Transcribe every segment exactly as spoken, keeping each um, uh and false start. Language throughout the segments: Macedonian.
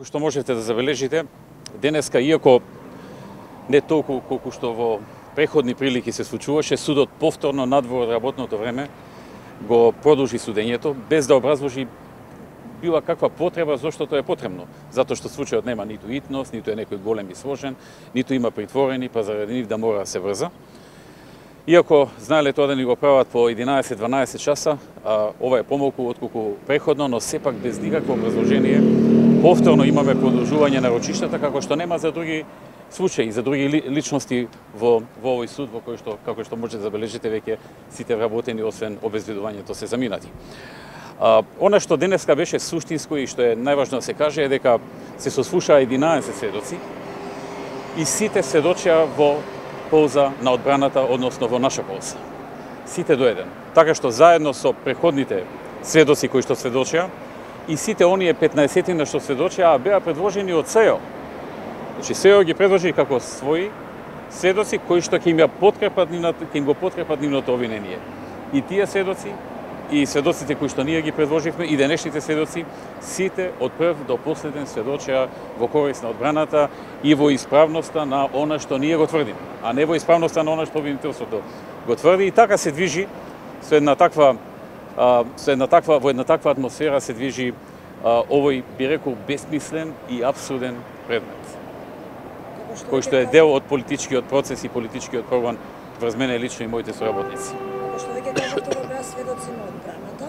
Како што можете да забележите, денеска, иако не толку колку што во преходни прилики се случуваше, судот повторно надвор од работното време го продолжи судењето без да образложи била каква потреба зошто тоа е потребно. Затоа што случајот нема ниту итност, ниту е некој голем и сложен, ниту има притворени, па заради нив да мора да се врза. Иако знаеле тоа да ни го прават по единаесет-дванаесет часа, а, ова е помалку отколку преходно, но сепак без никакво образложение, повторно имаме продолжување на рочиштата, како што нема за други случаи, за други личности во, во овој суд, во кој што, како што можете да забележите, веќе сите вработени, освен обезведувањето, се заминати. А, она што денеска беше суштинско и што е најважно да се каже е дека се сослушаа единаесет сведоци и сите сведочија во полза на одбраната, односно во наша полза. Сите до еден. Така што заедно со преходните сведоци кои што сведочија и сите оние петнаесетина што сведочија беа предложени од СЕО. Значи СЕО ги предложи како своји сведоци кои што ќе им ја подкрепат нивната, ќе им го подкрепат нивното обвинение. И тие сведоци и сведоците кои што ние ги предложивме и денешните сведоци, сите од прв до последен сведочеа во корист на одбраната и во исправноста на она што ние го тврдиме, а не во исправноста на она што обвинителството го тврди. И така се движи со една таква а, со една таква во една таква атмосфера се движи а, овој, би рекол, бесмислен и апсурден предмет, кој што е дел од политичкиот процес и политичкиот прогон врз мене лично и моите соработници. Како што веќе кажавте, да беа сведоци на одбраната,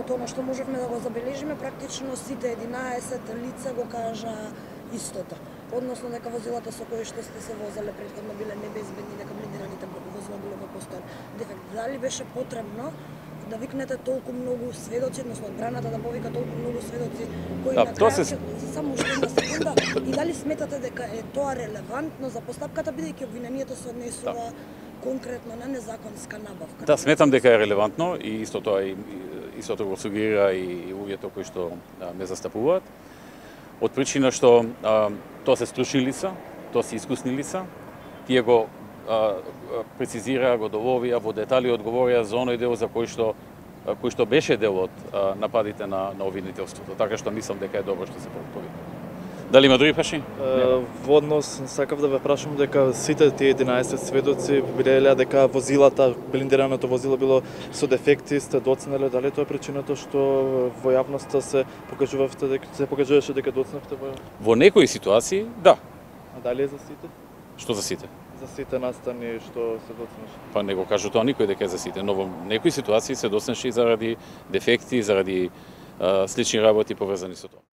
од она што можевме да го забележиме, практично сите единаесет лица го кажа истото. Односно дека возилата со кои што сте се возеле претходно биле небезбедни, дека блиндираните возила биле во постојан дефект. Дали беше потребно да викнете толку многу сведоци, односно одбраната да повика толку многу сведоци кои да, на крај се... само уште една секунда, и дали сметате дека е тоа релевантно за постапката, бидејќи обвинението се однесува да. конкретно на незаконска набавка? Да, сметам дека е релевантно и исто тоа и истото го сугерира и луѓето кои што а, ме застапуваат. Од причина што а, тоа се стручни лица, тоа се искусни лица, тие го а, прецизираа, го доловија, во детали одговорија за оној дел за кој што кој што беше дел од а, нападите на на обвинителството. Така што мислам дека е добро што се повика. Дали има други прашања? Во однос, сакав да ве прашам дека сите тие единаесет сведоци билеле дека возилата, блиндираното возило било со дефекти, сте доцнеле, дали тоа е причината што во јавноста се покажувавте дека се покажуваше дека доцневте во Во некои ситуации, да. А дали е за сите? Што за сите? За сите настани што се доцнеше. Па не го кажу тоа никој дека е за сите, но во некои ситуации се доцнеше заради дефекти, заради а, слични работи поврзани со тоа.